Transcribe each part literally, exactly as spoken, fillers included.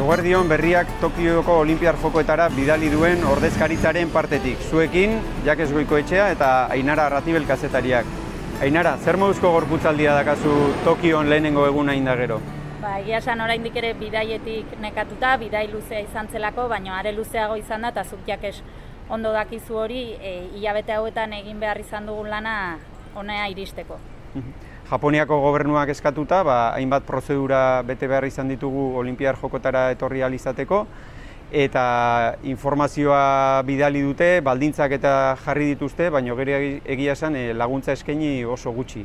Eguerdion berriak Tokioko Olinpiar Jokoetara bidali duen ordezkaritzaren partetik. Zuekin, Jakes Goikoetxea eta Ainara Arratibel kazetariak. Ainara, zer moduzko gorputzaldia dakazu Tokion lehenengo eguna inda gero? Ba, egia esan oraindik ere bidaietik nekatuta, bidai luzea izan zelako, baina are luzeago izan da, eta zuk Jakes ondo dakizu hori, e, hilabete hauetan egin behar izan dugun lana honea iristeko. Japoniako gobernuak eskatuta, ba, hainbat prozedura bete behar izan ditugu Olinpiar Jokotara etorri ahal izateko, eta informazioa bidali dute, baldintzak eta jarri dituzte, baina gero egia esan laguntza eskaini oso gutxi.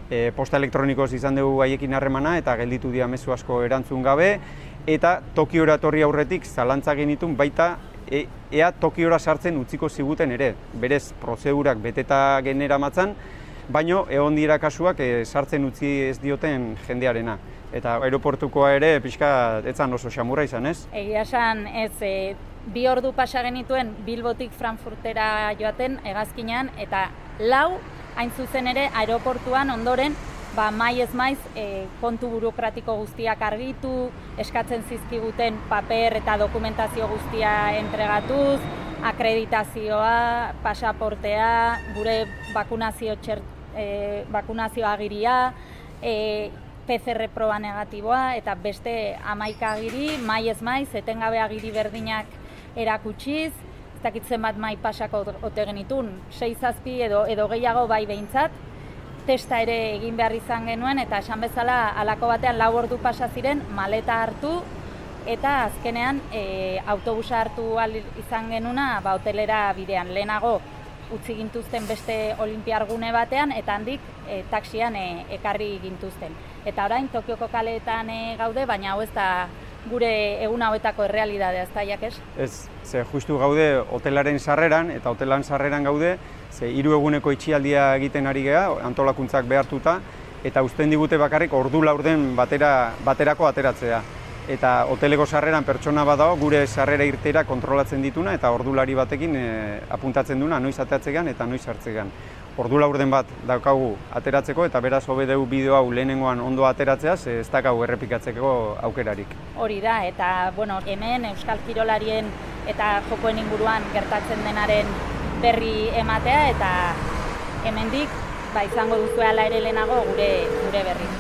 E, posta elektronikoz izan dugu haiekin harremana eta gelditu dira mezu asko erantzun gabe, eta Tokiora etorri aurretik zalantza genitun baita e, ea Tokiora sartzen utziko ziguten ere, berez prozedurak beteta genera matzan, baino egon dira kasuak e, sartzen utzi ez dioten jendearena. Eta aeroportukoa ere pixka etzan oso xamurra izan, ez? Egia esan ez, e, bi ordu pasa genituen Bilbotik Frankfurtera joaten hegazkinean, eta lau hain zuzen ere aeroportuan ondoren ba, mai ez maiz e, kontu burokratiko guztiak argitu, eskatzen zizkiguten paper eta dokumentazio guztia entregatuz, akreditazioa, pasaportea, gure bakunazio, txer, e, bakunazio agiria, e, P C R proba negatiboa eta beste hamaika agiri, mai ez maiz, etengabe agiri berdinak erakutsiz, ez dakit zenbat mai pasako ote genitun, sei zazpi edo, edo gehiago bai behintzat, testa ere egin behar izan genuen, eta esan bezala halako batean lau ordu pasa ziren, maleta hartu, eta azkenean e, autobusa hartu ahal izan genuna ba, hotelera bidean. Lehenago utzi gintuzten beste olinpiar gune batean, eta handik e, taxian e, ekarri gintuzten. Eta orain Tokioko kaleetan e, gaude, baina hau ez da gure egun hauetako errealidadea, ez da, Jakes? Ez, ze justu gaude hotelaren sarreran, eta hotelan sarreran gaude, ze hiru eguneko itxialdia egiten ari gea, antolakuntzak behartuta, eta uzten digute bakarrik ordu laurden batera, baterako ateratzea. Eta hoteleko sarreran pertsona bat dago, gure sarrera irtera kontrolatzen dituna, eta ordulari batekin e, apuntatzen duna, noiz ateratzegan eta noiz hartzegan. Ordu laurden bat daukagu ateratzeko, eta beraz hobe dugu bideo hau lehenengoan ondo ateratzea, ze ez daukagu errepikatzeko aukerarik. Hori da, eta bueno, hemen Euskal Kirolarien eta jokoen inguruan gertatzen denaren berri ematea, eta hemendik ba, izango duzuela ere lehenago gure, gure berri.